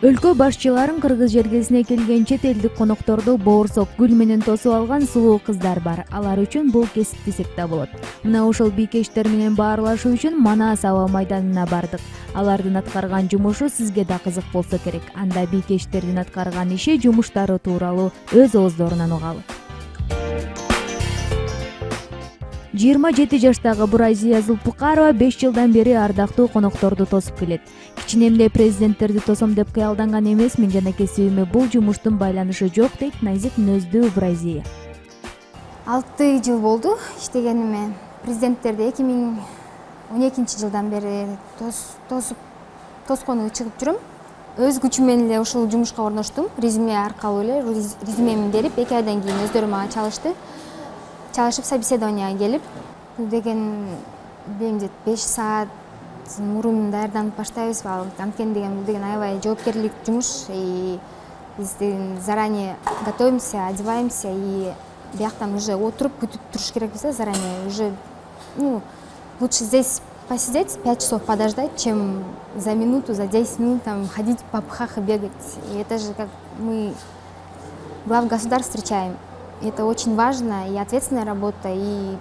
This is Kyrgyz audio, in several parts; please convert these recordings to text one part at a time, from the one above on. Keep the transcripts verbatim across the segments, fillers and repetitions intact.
Өлкө башчыларын кыргыз жергесине келген чет элдик конокторду боорсоп гүл менен тосуп алган сулуу кыздар бар. Алар үчүн бул кесип десек да болот. Мына ошол бийкештер менен баарлашуу үчүн Манас аба майданына бардык. Алардын аткарган жумушу сизге да кызык болсо керек. Анда бийкештердин аткарган иши, жумуштары тууралуу өз ооздорунан угалы. жыйырма жети жаштагы Буразия Зулпукарова беш жылдан бери ардактуу конокторду тосуп келет. Кичинемде президенттерди тосом деп кыялданган эмесмин жана кесибиме бул жумуштун байланышы жок дейт назик мүнөздүү Буразия. алты жыл болду иштегениме. Президенттерди эки миң он экинчи жылдан бери тосуп тоскону чыгып жүрөм. Өз күчүм менен эле ушул жумушка орноштум. Резюме аркылуу эле резюмемди берип, эки айдан кийин өздөрү мага чалышты. Чалышып собеседованияга келип, бул деген билем беш саат мурун даярданып баштайбыз. Анткени деген бул деген аябай жоопкерлик жумуш. И биз заранее готовимся, одеваемся и бияктан уже отуруп күтүп туруш керекпиз да заранее. Уже ну лучше здесь посидеть, пять часов подождать, чем за минуту, за десять минут там ходить по пхах и бегать. И это же как мы глав государств встречаем. Это очень важно и ответственная работа, и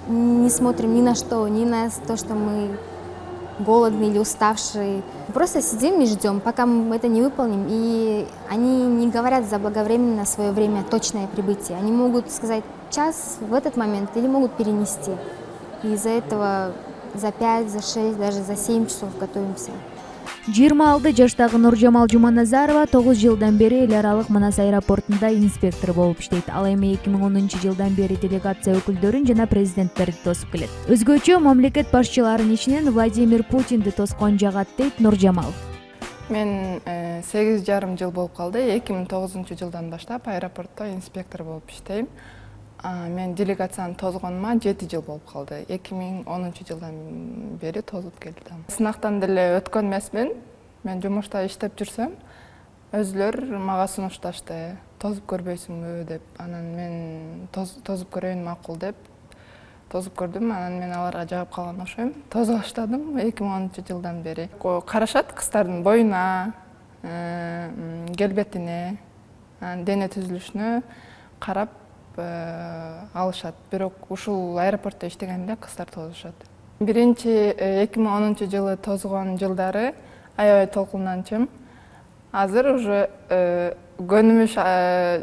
не смотрим ни на что, ни на то, что мы голодные или уставшие. Просто сидим и ждем, пока мы это не выполним. И они не говорят заблаговременно свое время, точное прибытие. Они могут сказать час в этот момент или могут перенести. И из-за этого за пять, за шесть, даже за семь часов готовимся. жыйырма алты жаштагы Нуржамал Жуманазарова тогуз жылдан бери эл аралык Манас аэропортунда инспектор болуп иштейт. Ал эми эки миң онунчу жылдан бери делегация өкүлдөрүн жана президенттерди тосуп келет. Өзгөчө мамлекет башчыларынын ичинен Владимир Путинди тоскон жагат дейт Нуржамал. Мен сегиз жарым жыл болуп калды. эки миң тогузунчу жылдан баштап аэропортто инспектор болуп иштейм. Мен делегацияны тозгонума жети жыл болуп калды. эки миң онунчу жылдан бери тозуп келдим. Сынактан деле өткөн эмесмин. Мен жумушта иштеп жүрсөм, өзүлөр мага сунушташты. Тозуп көрбөйсүңбү деп. Анан мен тозуп көрөйүн макул деп тозуп көрдүм. Анан мен аларга жагып калган окшойм. Тозуп баштадым эки миң онунчу жылдан бери. Карашат кыздардын боюна, келбетине, дене түзүлүшүнө карап алышат. Бирок ушул аэропортто иштегенде кыздар тозушат. Биринчи эки миң онунчу жылы тозгон жылдары аябай толкунданчым. Азыр уже көнүмүш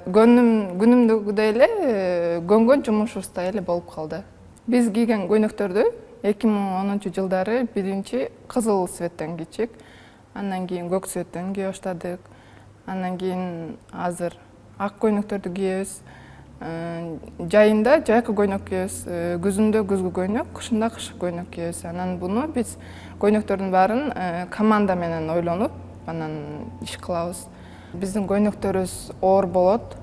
көнүм күнүмдөгүдөй эле көнгөн жумушубуздай эле болуп калды. Биз кийген көйнөктөрдү эки миң онунчу жылдары биринчи кызыл цветтен кийчик, андан кийин көк цветтен кие баштадык. Андан кийин азыр ак көйнөктөрдү кийебиз. Жайында жайкы көйнөк кийебиз, күзүндө күзгү көйнөк, кышында кышкы көйнөк кийебиз. Анан буну биз көйнөктөрдүн баарын команда менен ойлонуп, анан иш кылабыз. Биздин көйнөктөрүбүз оор болот.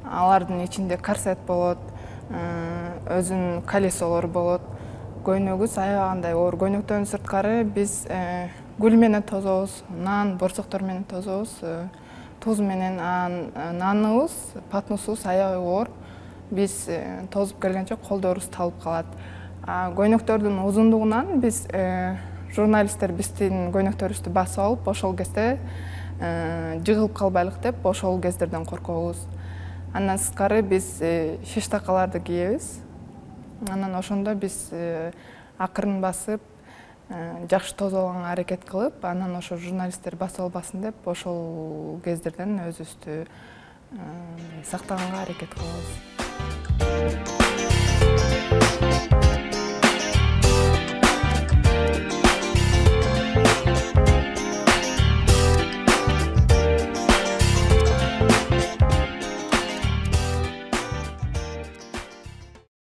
Алардын ичинде корсет болот, өзүнүн колесолору болот. Көйнөгүбүз аябагандай оор. Көйнөктөн сырткары биз гүл менен тозобуз, нан, борсоктор менен тозобуз. Туз менен наныбыз, патнусубуз аябай оор. Биз тозуп келгенче колдорубуз талып калат. Көйнөктөрдүн узундугунан биз журналисттер биздин көйнөктөрүбүздү басып алып, ошол кезде жыгылып калбайлык деп, ошол кездерден коркобуз. Андан сырткары биз шиш такаларды кийебиз. Анан ошондо биз акырын басып, жакшы тозуп алганга аракет кылып, анан ошо журналисттер басып албасын деп, ошол кездерден өзүбүздү сактаганга аракет кылабыз.